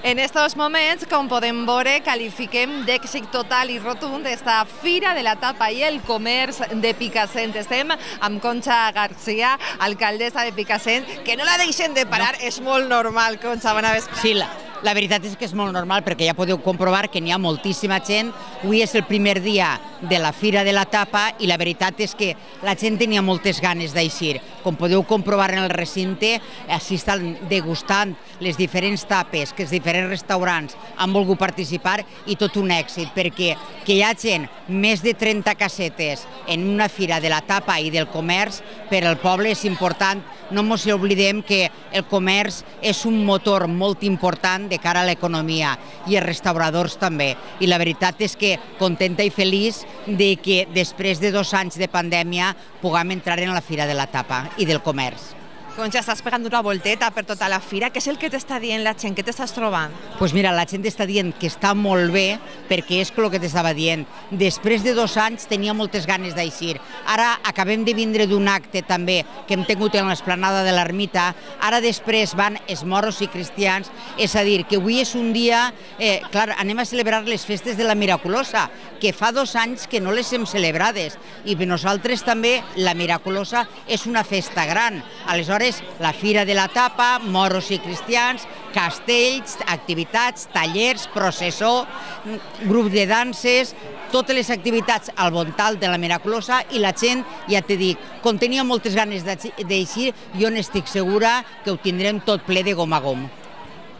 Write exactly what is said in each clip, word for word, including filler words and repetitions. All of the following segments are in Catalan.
En estos moments, com podem veure, qualifiquem d'èxit total i rotund esta Fira de la Tapa i el Comerç de Picassent. Estem amb Concha García, alcaldessa de Picassent, que no la deixen de parar, no. És molt normal, Concha, bona vesprada. Sí, la, la veritat és que és molt normal perquè ja podeu comprovar que n'hi ha moltíssima gent. Avui és el primer dia de la Fira de la Tapa i la veritat és que la gent tenia moltes ganes d'eixir. Com podeu comprovar en el recinte, així estan degustant les diferents tapes que els diferents restaurants han volgut participar i tot un èxit, perquè que hi ha gent, més de trenta casetes en una Fira de la Tapa i del Comerç, per al poble és important. No ens oblidem que el comerç és un motor molt important de cara a l'economia i els restauradors també. I la veritat és que contenta i feliç de que després de dos anys de pandèmia puguem entrar en la Fira de la Tapa i del Comerç. Concha, estàs pegant una volteta per tota la fira. Què és el que t'està dient la gent? Què t'estàs trobant? Doncs mira, la gent està dient que està molt bé perquè és el que t'estava dient. Després de dos anys tenia moltes ganes d'eixir. Ara acabem de vindre d'un acte també que hem tingut en l'esplanada de l'Ermita. Ara després van els moros i cristians. És a dir, que avui és un dia... Eh, clar, anem a celebrar les festes de la Miraculosa, que fa dos anys que no les hem celebrades. I per nosaltres també la Miraculosa és una festa gran. Aleshores, la Fira de la Tapa, moros i cristians, castells, activitats, tallers, processó, grup de danses, totes les activitats al voltant de la Miraculosa i la gent, ja t'he dit, com tenia moltes ganes d'eixir, jo n'estic segura que ho tindrem tot ple de gom a gom.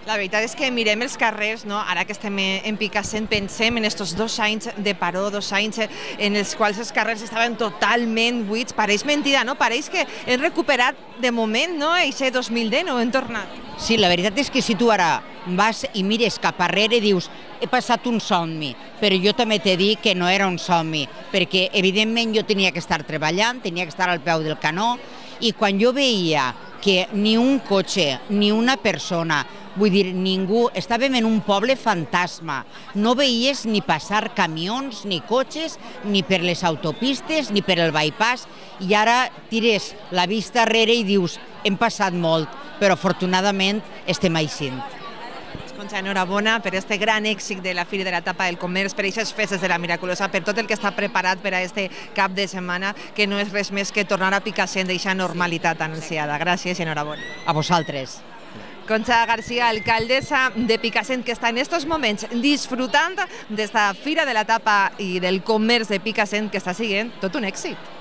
La veritat és que mirem els carrers, no? Ara que estem en Picassent, pensem en aquests dos anys de paró, dos anys en els quals els carrers estaven totalment buits. Pareix mentida, no? Pareix que hem recuperat de moment, no? Eixe dos mil deu, no? Hem tornat. Sí, la veritat és que si tu ara vas i mires cap arrere i dius he passat un somni, però jo també t'he dit que no era un somni, perquè evidentment jo tenia que estar treballant, tenia que estar al peu del canó, i quan jo veia que ni un cotxe, ni una persona, vull dir, ningú, estàvem en un poble fantasma, no veies ni passar camions, ni cotxes, ni per les autopistes, ni per el bypass, i ara tires la vista arrere i dius, hem passat molt, però afortunadament estem eixint. Concha, enhorabona per aquest gran èxit de la Fira de la Tapa del Comerç, per aquestes festes de la Miraculosa, per tot el que està preparat per a aquest cap de setmana, que no és res més que tornar a Picassent d'eixa normalitat anunciada. Gràcies i enhorabona. A vosaltres. Concha García, alcaldessa de Picassent, que està en aquests moments disfrutant d'esta Fira de la Tapa i del Comerç de Picassent, que està sent tot un èxit.